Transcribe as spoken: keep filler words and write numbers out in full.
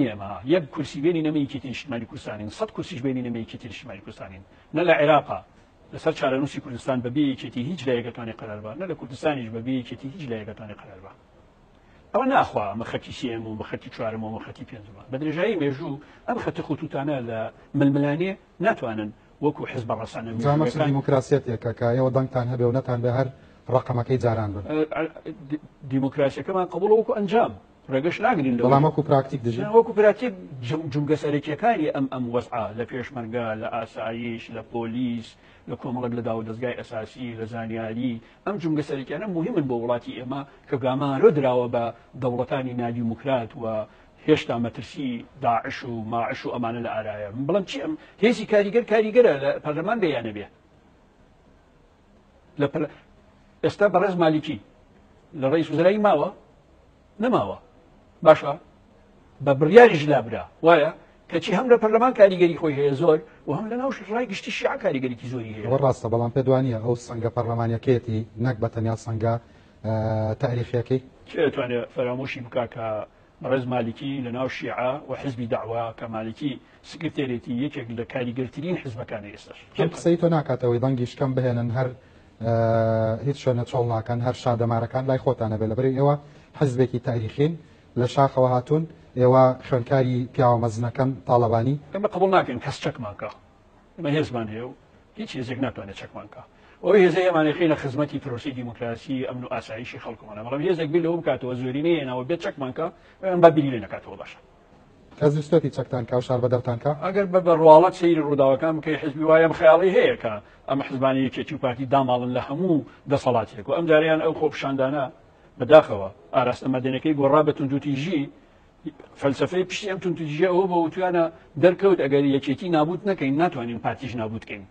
ئێمە یەک کورسی بێنی نەمە یەکێتی نیشتمانی کوردستانین، سەد کورسیش بێنی نەمە یەکێتی نیشتمانی کوردستانین. نە لە عێراقا لەسەر چارەنووسی کوردستان بەبێ یەکێتی هیچ لایەکەتوانێ قەرار بە، نە لە کوردستانیش بەبێ یەکێتی هیچ لایەکەتوانێ قەرار بە. ئەوە ناخوا ئەمە خەتی سێم و خەتی چوارم و خەتی پێنجمە. بە درێژایی مێژوو ئەم خەتی خۆتوتانە لە ململانێ ناتوانن وەکو حزب ڕەسانە مێژوویەکان. دیموکراسیەتێکە کە ئێوە دەنگتان هەبێ و نەتان بێ هەر ڕقەمەکەی جاران بن. دیموکراسیەکەمان قبوڵە وەکو ئەنجام، ڕێگەش ناگرین لەوە. بەڵام وەکو پراکتیک دژی؟ وەکو پراکتیک جومگە سەرەکیەکانی ئەم ئەم وەزعە لە پێشمەرگە، لە ئاسایش، لە پۆلیس، لە کۆمەڵێک لە داو دەستگای ئەساسی، لە زانیاری، ئەم جومگە سەرەکیانە مهمن بۆ وڵاتی ئێمە کە گامارۆ دراوە بە دەوڵەتانی نادیموکرات و هێشتا مەترسی داعش و ماعش و ئەمانە لە ئارایە. من بڵێم چی ئەم هێزی کاریگەر کاریگەرە لە پەرلەمان بێیانە بێ. لە ئێستا بەڕێز مالیکی لە ڕئیس وزرایی ماوە؟ نەماوە. باشە بە بڕیاریش لابرا وایە کەچی هەم لە پەرلەمان کاریگەری خۆی هەیە زۆر و هەم لە ناو ڕای گشتی شیعە کاریگەریکی زۆری هەیە. ئەوە ڕاستە، بەڵام پێت وانییە ئەو سەنگە پەرلەمانیەکەیەتی نەک بە تەنیا سەنگە تاریخیەکەی؟ کێ دەتوانێت فەرامۆشی بکا کە بەڕێز مالیکی لە ناو شیعە و حزبی دەعوە کە مالیکی سکرتێرێتی یەکێک لە کاریگەرترین حزبەکانی ئێستاش. ئەم قسەی تۆ ناکاتەوەی دەنگی شکەم بهێنن، هەر هیچ شوێنە چۆڵ ناکەن، هەر شادەمارەکان لای خۆتانە بێ. لەبەرەی ئێوە حزبێکی تاریخین لە شاخەوە هاتوون، ئێوە خوێندکاری پیاوە مەزنەکەن تاڵەبانی. ئێمە قبوڵ ناکەین کەس چەکمان کە، ئێمە هێزمان هەیە و هیچ هێزێک ناتوانێت چەکمان کە. ئەوەی هێزەی ئێمانەی خەینە خزمەتی پرۆسەی دیموکراسی ئەمن و ئاسایشی خەڵکمانە، بەڵام هێزێک بیر لەوە بکاتەوە زۆرینەی هێناوە بێت چەکمان کە، ئەم با بیری لێ نەکاتەوە. باشە کەس ویستێتی چەکتان کا و شاربەدەرتان کا؟ ئەگەر بە بەڕواڵەت سەیری ڕووداوەکان بکەی حزبی وایە ئەم خەیاڵی هەیە کە ئەم حزبانی یەکێتی و پارتی داماڵن لە هەموو دەسەڵاتێک و ئەم جاریان ئەو خۆپیشاندانە بەداخەوە ئاراستە مەدەنەکەی گۆڕا بە توندوتیژی. فەلسەفەی پشتی ئەم توندوتیژیە ئەوە بە وتویانە دەرکەوت ئەگەر یەکێتی نابوت نەکەین ناتوانین پارتیش نابوت کەین.